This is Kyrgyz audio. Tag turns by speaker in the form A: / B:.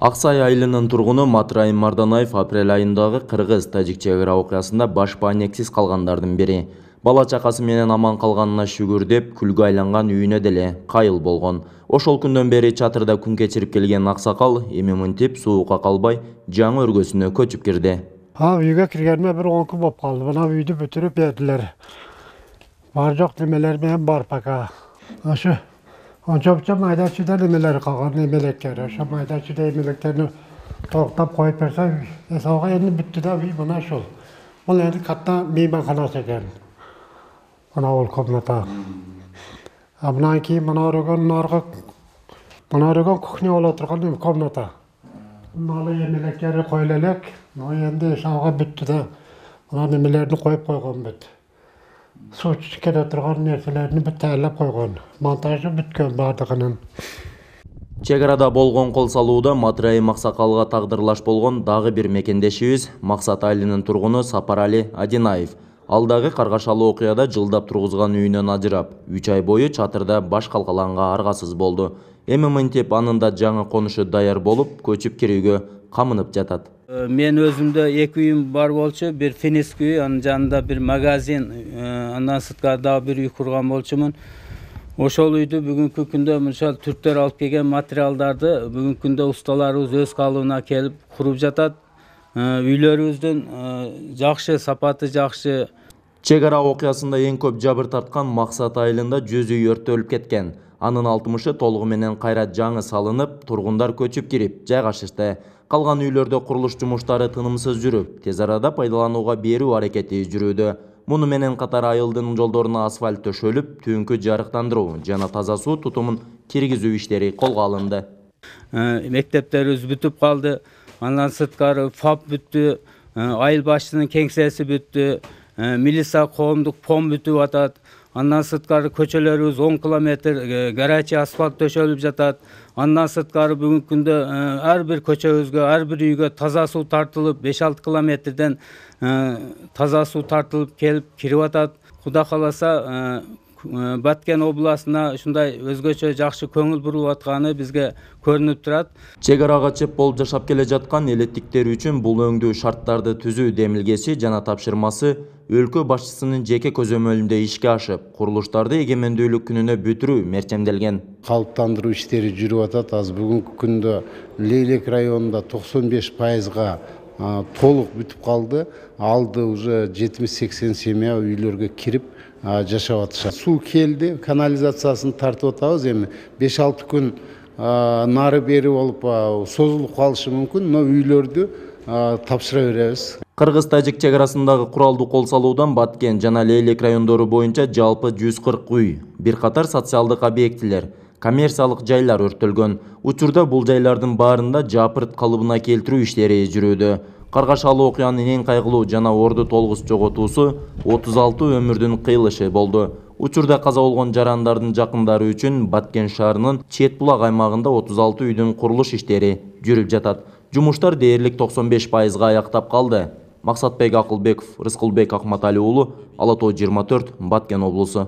A: Аксай айылынын тургуну Матраим Марданаев апрель айындагы кыргыз-тажик чек ара окуясында баш баанексиз калгандардын бири. Бала чакасы менен аман калганына шүгүр деп, күлгө айланган үйүнө деле кайыл болгон. Ошол күндөн бери чатырда күн кечирип келген аксакал эми мынтип суукка калбай жаңы өргөсүнө көчүп кирди.
B: Үйгө киргениме бир 10 күн болуп калды. Мына үйдү бүтүрүп бердилер. Бар жок немелер менен бар пока. Ошо онча майда-чүйдө немелер калган, эмелектер. Ошо майда-чүйдө эмелектерди токтоп коюп берсе, эсауга эми бүттү да үй мына ушул. Бул эми катта мейманканасы экен. Мына бул комната. Мындан кийин мына өргөн кухня боло турган комната. Мына эмелектери коюла элек. Эми эсауга бүттү да. Мына немелерди коюп койгон бүт. Суу келе турган нерселерди бүт даярдап койгон. Монтажы бүткөн бардыгынын.
A: Чек арада болгон кол салууда Матраим аксакалга тагдырлаш болгон дагы бир мекендешибиз Максат айылынын тургуну Сапарали Адинаев. Ал дагы каргашалуу окуяда жылдап тургузган үйүнөн ажырап, 3 ай бою чатырда баш калкаланга аргасыз болду. Эми мынтип анын да жаңы конушу даяр болуп, көчүп кирүүгө камынып жатат.
C: Мен өзүмдө 2 үйүм бар болчу, бир финисский үй, анын жанында бир магазин, андан сырткары дагы бир үй курган болчумун. Ошол үйдү бүгүнкү күндө мынча түрктөр алып келген материалдарды бүгүнкү күндө усталарыбыз өз калыбына келип куруп жатат. Үйлөрүбүздүн жакшы, сапаты жакшы.
A: Чек ара окуясында эң көп жабыр тарткан Максат айылында 100 үй өрттөлүп кеткен. Анын 60-ы толугу менен кайра жаңы салынып, тургундар көчүп кирип жайгашышты. Калган үйлөрдө курулуш жумуштары тынымсыз жүрүп, тез арада пайдаланууга берүү аракети жүрүүдө. Муну менен катар айылдын жолдоруна асфальт төшөлүп, түнкү жарыктандыруу жана таза суу тутумун киргизүү иштери колго алынды.
C: Мектептерибиз бүтүп калды. Андан сырткары ФАП бүттү, айыл башчынын кеңсеси бүттү, милиция коомдук пом бүтүп атат. Андан сырткары көчөлөрүбүз 10 километр горячий асфальт төшөлүп жатат. Андан сырткары бүгүнкү күндө ар бир көчөбүзгө, ар бир үйгө таза суу тартылып, 5-6 километрден таза суу тартылып келип кирип атат. Кудай кааласа, Баткен областына ушундай өзгөчө жакшы көңүл бурулуп атканы бизге көрүнүп турат.
A: Чек арага чеп болуп жашап келе жаткан элеттиктер үчүн бул өңдүү шарттарды түзүү демилгеси жана тапшырмасы өлкө башчысынын жеке көзөмөлүндө ишке ашып, курулуштарды эгемендүүлүк күнүнө бүтүрүү мерчемделген.
D: Калыптандыруу иштери жүрүп атат. Азыр бүгүнкү күндө Лейлек районунда 95%га толук бүтүп калды. Алды уже 70-80 семья үйлөргө кирип жашап атышат. Суу келди, канализациясын тартып атабыз. Эми 5-6 күн нары бери болуп созулуп калышы мүмкүн, но үйлөрдү тапшыра беребиз.
A: Кыргыз-тажик чек арасындагы куралдуу кол салуудан Баткен жана Лейлек райондору боюнча жалпы 140 үй, бир катар социалдык объектилер, коммерциялык жайлар өрттөлгөн. Учурда бул жайлардын баарында жапырт калыбына келтирүү иштери жүрүүдө. Каргашалуу окуянын эң кайгылуу жана орду толгус жоготуусу 36 өмүрдүн кыйылышы болду. Учурда каза болгон жарандардын жакындары үчүн Баткен шаарынын Чет булак аймагында 36 үйдүн курулуш иштери жүрүп жатат. Жумуштар дээрлик 95%га аяктап калды. Максатбек Акылбеков, Рыскылбек Акматали уулу, Ала Тоо 24, Баткен облусу.